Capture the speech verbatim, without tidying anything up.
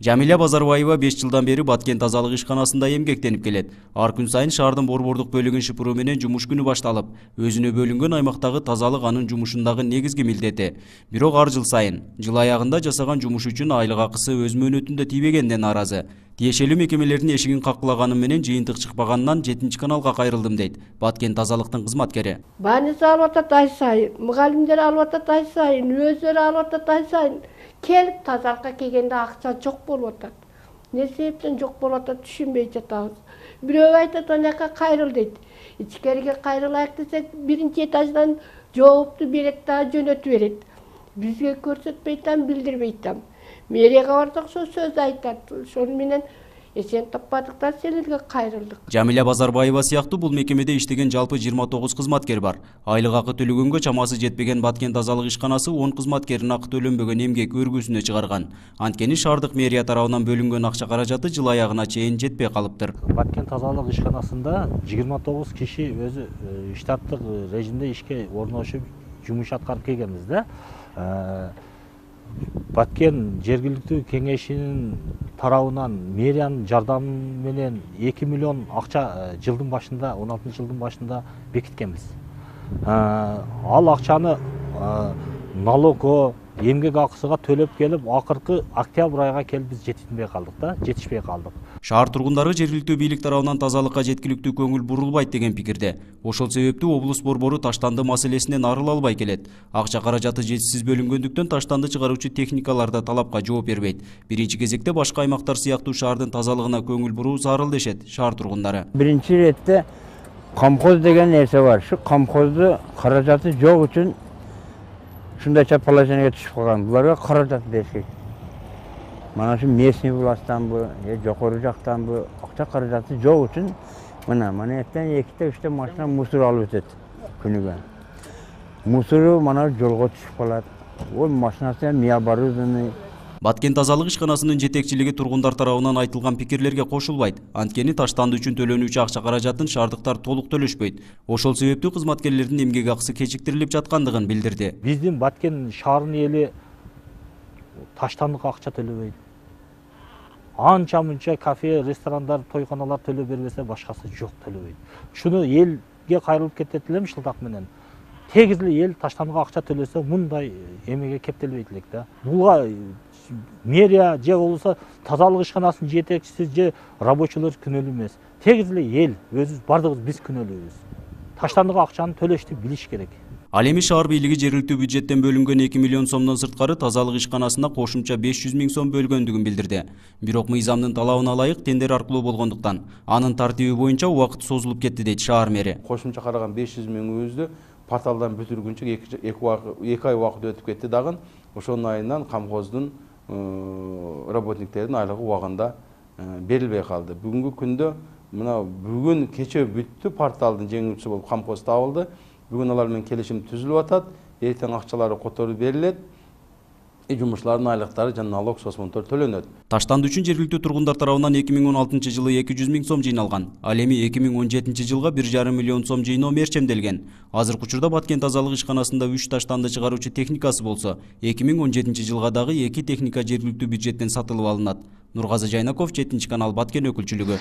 Жамиля Базарбаева беш жылдан бери Баткен тазалык ишканасында эмгектенип келет. Ар күн сайын шаардын борбордук бөлүгүн шыпыруу менен жумуш күнү башталып, өзүнө бөлүнгөн аймактагы тазалык анын жумушундагы негизги милдети. Бирок ар жыл сайын жыл аягында жасаган жумуш үчүн айлык акысы өз мөөнөтүндө тийбегенден нааразы. Тиешелүү мекемелердин эшигин каклаганым менен жыйынтык чыкпаганынан жетинчи каналга кайрылдым дейт Баткен тазалыктын кызматкери. Больница алып атат ай сайын, мугалимдер алып атат ай сайын, өздөрү алып атат ай сайын. Келип тазалыкка келгенде акча жок болуп атат. Не себептен жок болуп атат түшүнбөй жатабыз. Бирөө айтат анакка кайрыл дейт. Ичкериге кайрылайык десек, биринчи этаждан жоопту берет да жөнөтүп берет. Бизге көрсөтпөй там, билдирбей там. Мэрияга бардык, ошо сөз айтат. Ошону менен эсен таппадыктан силерге кайрылдык. Жамиля Базарбаева сыяктуу бул мекемеде иштеген жалпы жыйырма тогуз кызматкер бар. Айлык акы төлөгөнгө чамасы жетпеген Баткен тазалык ишканасы он кызматкерин акы төлөнбөгөн эмгек өргүсүнө чыгарган. Анткени шаардык мэрия тарабынан бөлүнгөн акча каражаты жыл аягына чейин жетпей калыптыр. Баткен тазалык ишканасында жыйырма тогуз киши өзү штаттык режимде ишке орношуп жумуш аткарып келгенбиз да. Баткен жергиликтүү кеңешинин тарабынан мэриянын жардамы менен эки миллион акча жылдын башында, он алтынчы жылдын башында бекиткенбиз. Ал акчаны налогго, эмгек акысыга төлөп келип, акыркы октябрь айга келип биз жетишпей калдык да, жетишпей калдык. Шаар тургундары жергиликтүү бийлик тарабынан тазалыкка жеткиликтүү көңүл бурулбайт деген пикирде. Ошол себептүү облус борбору таштанды маселесинен арыла албай келет. Акча каражаты жетишсиз бөлүнгөндүктөн таштанды чыгаруучу техникалар да талапка жооп бербейт. Биринчи кезекте башка аймактар сыяктуу шаардын тазалыгына көңүл буруу зарыл дешет шаар тургундары. Биринчи иретте камкоз деген нерсе бар. Ушу камкозду каражаты жок үчүн ушундайча положенияга түшүп калган. Буларга каражат бериш керек. Mana şu местный властьтанбы, же жокору жактанбы акча каражаты жок үчүн мына манаяктан эките үчтө машина мусор алып өтөт күнүгө. Мусору мана жолго түшүп калат. Ол машинасы необорудованный. Баткен тазалык ишканасынын жетекчилиги тургундар тарабынан айтылган пикирлерге кошулбайт. Анткени таштанды үчүн төлөнүүчү акча каражатын шаардыктар толук төлөшпөйт. Ошол себептүү кызматкерлердин эмгек акысы кечиктирилип жаткандыгын билдирди. Биздин Баткен шаарынын эли таштандык акча төлөбөйт. Анча мынча кафе, ресторандар, тойканалар төлөп бербесе башкасы жок төлөбөйт. Шуну элге кайрылып кетет элем шылтак менен. Тегиз эле эл таштандык акча төлөсө мындай эмеге кептелбейт элек да. Буга мэрия же болбосо тазалык ишканасынын жетекчиси же рабочийлер күнөөлүү эмес. Тегиз эле эл өзүбүз бардыгыбыз биз күнөөлүүбүз. Таштандык акчаны төлөштү билиш керек. Ал эми шаар бийлиги жергиликтүү бюджеттен бөлүнгөн эки миллион сомдон сырткары тазалык ишканасына кошумча беш жүз миң сом бөлгөндүгүн билдирди. Бирок мыйзамдын талабына ылайык тендер аркылуу болгондуктан анын тартиби боюнча убакыт созулуп кетти дейт шаар мэри. Кошумча караган беш жүз миңибизди порталдан бүтүргүнчө эки ай убакыт өтүп кетти дагы. Ошонун айынан камкоздун работниктердин айлыгы убагында берилбей калды. Бүгүнкү күндө мына бүгүн кече бүттү, порталдын жеңүүчүсү болуп камкоз табылды. Бүгүн алар менен келишим түзүлүп атат. Эртең акчалары которуп берилет. Жумушчулардын айлыктары жана налог сосмонтор төлөнөт. Таштанды үчүн жергиликтүү тургундар тарабынан эки миң он алтынчы жылы эки жүз миң сом жыйналган. Ал эми эки миң он жетинчи жылга бир жарым миллион сом жыйноо мерчемделген. Азыркы учурда Баткен тазалык ишканасында үч таштанды чыгаруучу техникасы болсо, эки миң он жетинчи жылга дагы эки техника жергиликтүү бюджеттен сатылып алынат. Нургазы Жайнаков, жетинчи канал, Баткен өкүлчүлүгү.